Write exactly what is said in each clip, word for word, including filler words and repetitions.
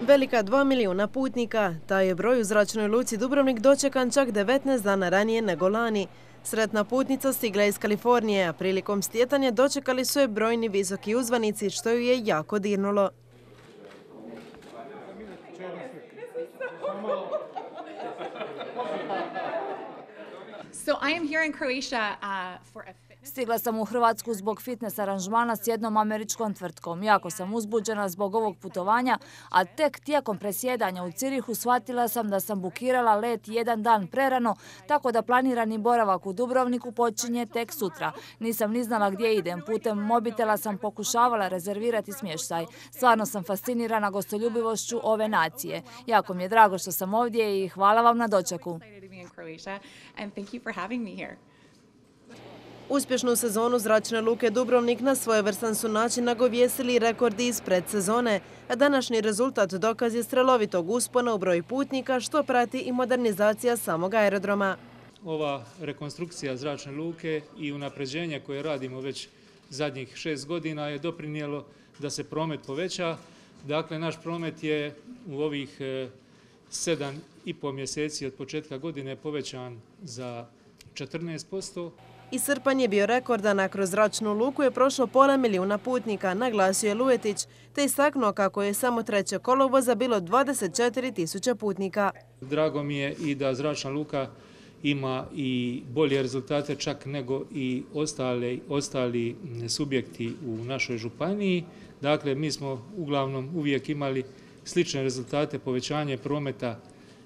Velika dva milijuna putnika, taj je broj u zračnoj luci Dubrovnik dočekan čak devetnaest dana ranije nego lani. Sretna putnica stigla iz Kalifornije, a prilikom stjetanja dočekali su je brojni visoki uzvanici, što ju je jako dirnulo. So I am here in Croatia uh, for a Stigla sam u Hrvatsku zbog fitness aranžmana s jednom američkom tvrtkom. Jako sam uzbuđena zbog ovog putovanja, a tek tijekom presjedanja u Cirihu shvatila sam da sam bukirala let jedan dan prerano, tako da planirani boravak u Dubrovniku počinje tek sutra. Nisam ni znala gdje idem. Putem mobitela sam pokušavala rezervirati smještaj. Stvarno sam fascinirana gostoljubivošću ove nacije. Jako mi je drago što sam ovdje i hvala vam na dočeku. Uspješnu sezonu zračne luke Dubrovnik na svojevrstan su način nagovijestili rekordi iz predsezone, a današnji rezultat dokaz je strelovitog uspona u broju putnika što prati i modernizacija samog aerodroma. Ova rekonstrukcija zračne luke i unapređenje koje radimo već zadnjih šest godina je doprinijelo da se promet poveća. Dakle, naš promet je u ovih sedam i pol mjeseci od početka godine povećan za četrnaest posto. I srpanj je bio rekordan, a kroz zračnu luku je prošlo pola milijuna putnika, naglasio je Luetić, te istaknuo kako je samo treće kolovoza bilo dvadeset četiri tisuće putnika. Drago mi je i da zračna luka ima i bolje rezultate čak nego i ostali, ostali subjekti u našoj županiji. Dakle, mi smo uglavnom uvijek imali slične rezultate, povećanje prometa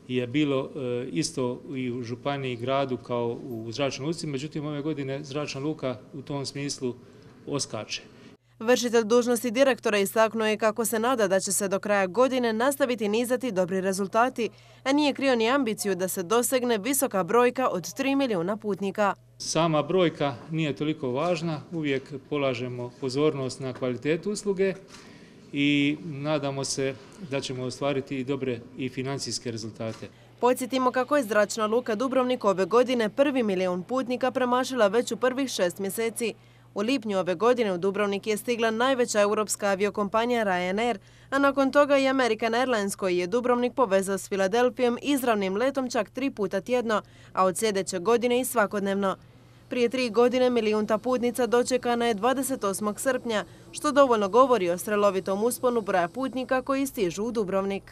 je bilo isto i u županiji i gradu kao u zračnoj luci, međutim ove godine zračna luka u tom smislu oskače. Vršitelj dužnosti direktora istaknuo je kako se nada da će se do kraja godine nastaviti nizati dobri rezultati, a nije krio ni ambiciju da se dosegne visoka brojka od tri milijuna putnika. Sama brojka nije toliko važna, uvijek polažemo pozornost na kvalitetu usluge i nadamo se da ćemo ostvariti i dobre i financijske rezultate. Podsjetimo kako je zračna luka Dubrovnik ove godine prvi milijun putnika premašila već u prvih šest mjeseci. U lipnju ove godine u Dubrovnik je stigla najveća europska aviokompanija Ryanair, a nakon toga i American Airlines koji je Dubrovnik povezao s Filadelfijom izravnim letom čak tri puta tjedno, a od sljedeće godine i svakodnevno. Prije tri godine milijunta putnica dočekana je dvadeset osmog srpnja, što dovoljno govori o strelovitom usponu broja putnika koji stižu u Dubrovnik.